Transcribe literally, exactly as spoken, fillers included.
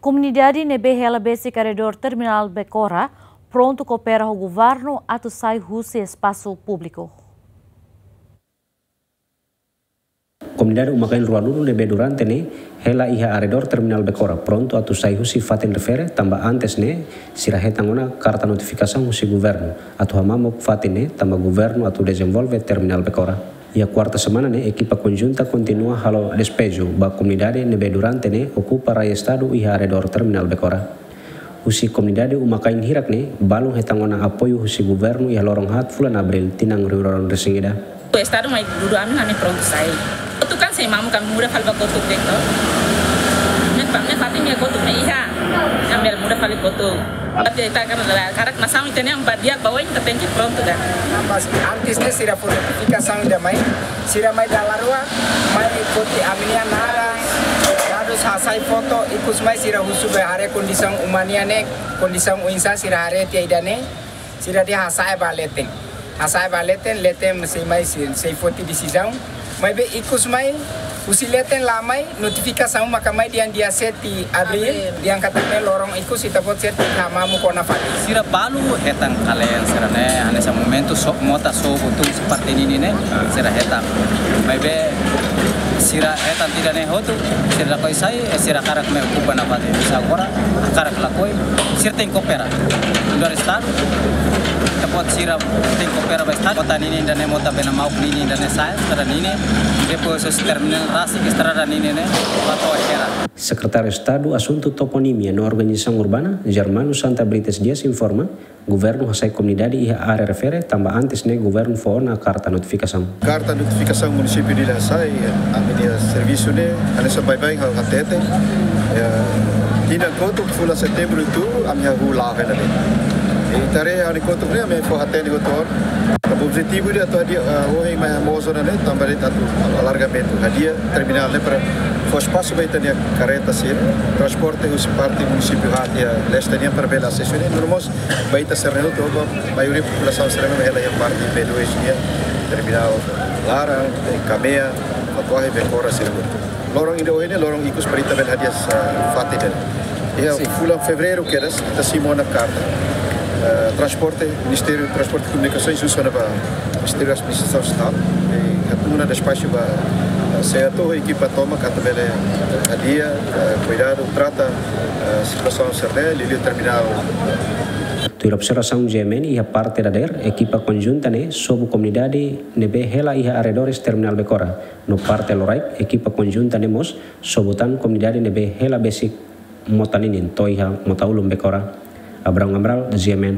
Komunidade ne'ebé hela besik arredór terminál Becora prontu koopera ho governu atu sai husi espasu públiku. Komunidade uma-kain ruanulu ne'ebé durante ne'e hela iha arredór terminál Becora prontu atu sai husi fatin refere, tanba antes ne'e sira hetan ona karta notifikasaun husi governu atu hamamuk fatin ne'e, tanba governu atu dezenvolve terminál Becora. Iha kuarta semana ne'e, ekipa konjunta kontinua halo despeju ba komunidade ne'ebé durante ne'e okupa rai Estadu iha arredór terminál Becora. Husi komunidade uma-kain hirak ne'e, balun hetan ona apoiu husi governu iha loron haat fulan Abríl tinan rihun rua ruanulu-resin-ida. Estadu mai dudu ami, ami prontu sai. Kotuk kan sei mamuk, ami muda fali ba kotuk de'it. Ami pa, ami fatin ami kotuk ne'e iha. Ami bele muda fali kotuk. Tapi ita kan karik nasaun ita-nian ba di'ak ba oin, ita tenke prontu kan. Mas antes ne'e sira fó notifikasaun ida mai, sira mai dala rua, mai foti ami-nia naran, dadus, hasai foto, ikus mai sira husu ba haree kondisaun uma nian ne'e, kondisaun oinsá, sira haree tiha ida-ne'e, sira dehan hasa'e ba leten. Hasa'e ba leten, leten sei mai sei, sei foti desizaun. Maibé ikus mai, husi leten la mai, notifikasaun maka mai dehan dia sete Abríl, Abríl. Dehan katak ne'e loron ikus ita-boot sira tenke hamamuk ona fali. Sira balu hetan kalen sira-ne'e, hanesan momentu so, mota sobu tun husi parte ninin ne'e, sira hetan. Maibé sira hetan tiha ne'e hotu, sira lakohi sai, eh, sira hakarak mai okupa ona fali. Sira agora hakarak lakohi, sira tenke koopera. Dari Estadu, ita-boot sira tenke koopera ba Estadu. Mota ninin ida-ne'e, mota bena mauk ninin ida-ne'e sai, kada ninin, depois husi terminál rasik estrada ninin ne'e, ba to'o Hera. Sekretáriu Estadu Asuntu Toponímia no Organizasaun Urbana, Germano Santa Brites Dias informa, governu hasai komunidade iha área refere, tanba antes ne'e governu fó ona karta notifikasaun. Karta notifikasaun munisípiu Dili hasai, ami-nia servisu ne'e, hanesan baibain ha'u hatete, eh, tinan kotuk fulan Setembru atu, ami hahú la'o hela ne'e. I ita haree ha'u-nia kotuk ne'e, ami fó hatene hotu ona. Tanba objetivu ida atu hadi'a, eh, ohin mai hamoos ona ne'e, tanba de'it atu alargamentu, hadi'a terminál ne'e para fó espasu ba ita-nia karreta sira, transporte husi parte munisípiu haat iha leste nian para bele asesu ne'e, no mós ba ita sira ne'e hotu, ba maioria populasaun sira ne'ebé hela iha parte B dois nian, terminál laran, eh, Kamea, Fatuahi, Becora, sira hotu. Loron ida ohin ne'e, loron ikus para ita bele hadi'a, ah, fatin ne'e. Iha, sin, fulan Fevereiru kedas, ita simu ona karta, eh, transporte, Ministériu Transporte e Comunicações, husu ona ba Ministériu Administrasaun Estatal, i hatun ona despaxu ba, eh, SEATOU, ekipa tomak atu bele, eh, hadi'a, eh, kuidadu, trata, eh, situasaun sira-ne'e, liuliu terminál. Tuir observasaun G M N, iha parte dadeer, ekipa konjunta ne'e sobu komunidade ne'ebé hela iha arredores terminál Becora. No parte loraik, ekipa konjunta ne'e mós sobu tan komunidade ne'ebé hela besik mota ninin to'o iha mota ulun Becora. Abrão Amaral, G M N.